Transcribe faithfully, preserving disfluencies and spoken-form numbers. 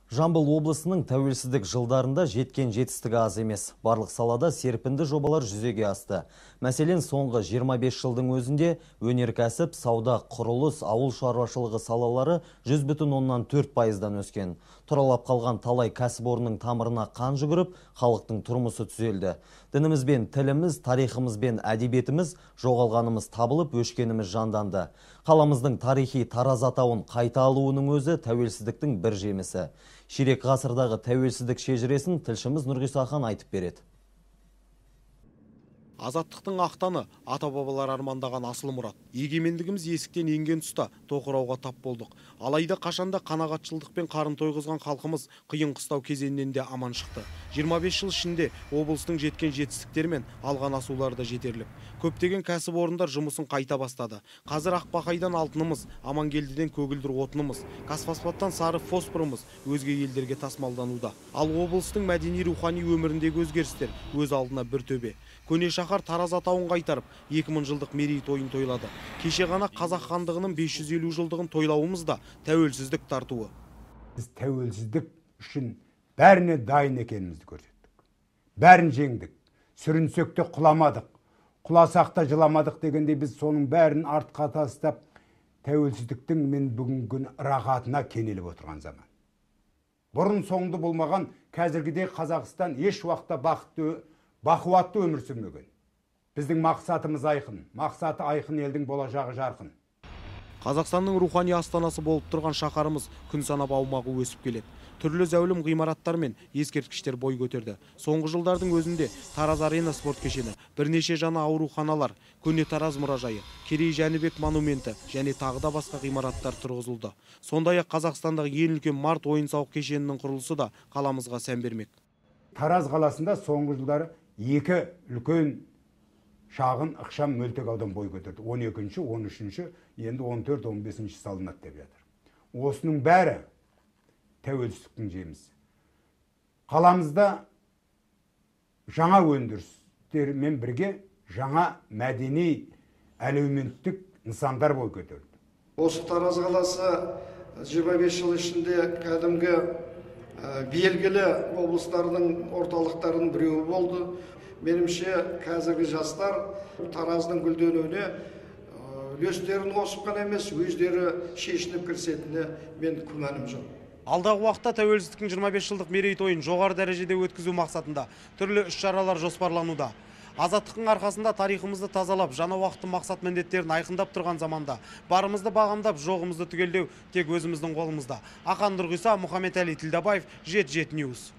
Жамбыл облысының тәуелсіздік жылдарында жеткен жетістігі аз емес. Барлық салада серпінді жобалар жүзеге асты. Мәселен, соңғы жиырма бес жылдың өзінде өнеркәсіп, сауда, құрылыс, ауыл шаруашылығы салалары жүз бүтін оннан төрт пайыздан өскен. Тұралап қалған талай кәсіпорынның тамырына қан жүгіріп, халықтың тұрмысы түзелді. Дінімізбен тіліміз, тарихымызбен әдебиетіміз, жоғалғанымыз табылып, өшкеніміз жанданды. Қаламыздың тарихи Тараз атауын қайта алуының өзі тәуелсіздіктің бір жемісі. Ширек ғасырдағы тәуелсіздік шежіресін тілшіміз Нұрғиса хан айтып береді. Азаттықтың ақтаны ата-бабалар армандаған асыл мұрат. Егемендігіміз есіктен енген тұста тоқырауға тап болдық. Алайда қашанда қанағатшылдықпен қарын тойғызған халқымыз қиын қыстау кезеңнен де аман шықты. жиырма бес жыл ішінде облыстың жеткен жетістіктері мен алған асулары да жетерлік. Көптеген кәсіпорындар жұмысын қайта бастады. Қазір Ақбақайдан алтынымыз, Амангелдіден көгілдір отынымыз, Қазфосфаттан сары фосфорымыз өзге елдерге тасымалдануда. Ал облыстың мәдени рухани өміріндегі өзгерістер өз алдына бір төбе. Көне шаһар Тараз атауын қайтарып, екі мың жылдық мерейтойын тойлады. Кеше ғана Қазақ хандығының бес жүз елу жылдығын тойлауымыз да тәуелсіздік тартуы. Біз тәуелсіздік үшін бәріне дайын екенімізді көрсеттік. Бәрін жеңдік. Сүрінсек те құламадық. Құласақ та жыламадық дегенде біз соның бәрін артқа тастап, тәуелсіздіктің мен бүгінгі рахатына кенеліп отырған заман. Бұрын соңды болмаған қазіргідей Қазақстан еш уақытта бақытты, бақуатты өмір сүрмеген. Біздің мақсатымыз айқын, мақсаты айқын елдің болашағы жарқын. Қазақстанның рухани астанасы болып тұрған шаһарымыз күн санап аумағы өсіп келеді. Түрлі зәулім ғимараттар мен ескерткіштер бой көтерді. Соңғы жылдардың өзінде Тараз арена спорт кешені, бірнеше жаңа ауруханалар, көне Тараз мұражайы, Керей Жәнібек монументі және тағы да басқа ғимараттар тұрғызылды. Сондай-ақ Қазақстандағы ең үлкен март ойын-сауық кешенінің құрылысы да қаламызға сән бермек. Тараз қаласында соңғы жылдары екі үлкен шағын ықшам мөлтек аудан бой көтерді. он екінші, он үшінші, енді он төрт, он бесінші салынады деп жатыр. Осының бәрі тәуелсіздіктің жемісі. Қаламызда жаңа өндірістермен бірге жаңа мәдени әлеуметтік нысандар бой көтерді. Осы Тараз қаласы жиырма бес жыл ішінде кәдімгі белгілі облыстардың орталықтарының біреуі болды. Менімше қазіргі жастар Тараздың гүлденуіне үлестерін қосып қана емес, өздері шешініп кірісетініне мен күмәнім жоқ. Алдағы уақытта тәуелсіздіктің жиырма бес жылдық мерейтойын жоғары дәрежеде өткізу мақсатында түрлі іс-шаралар жоспарлануда. Азаттықтың арқасында тарихымызды тазалап, жаңа уақыттың мақсат міндеттерін айқындап тұрған заманда барымызды бағамдап, жоғымызды түгелдеу тек өзіміздің қолымызда. Ақан Нұрғиса, Мұхаммед Әли Тілдабаев, жеті жеті Ньюс.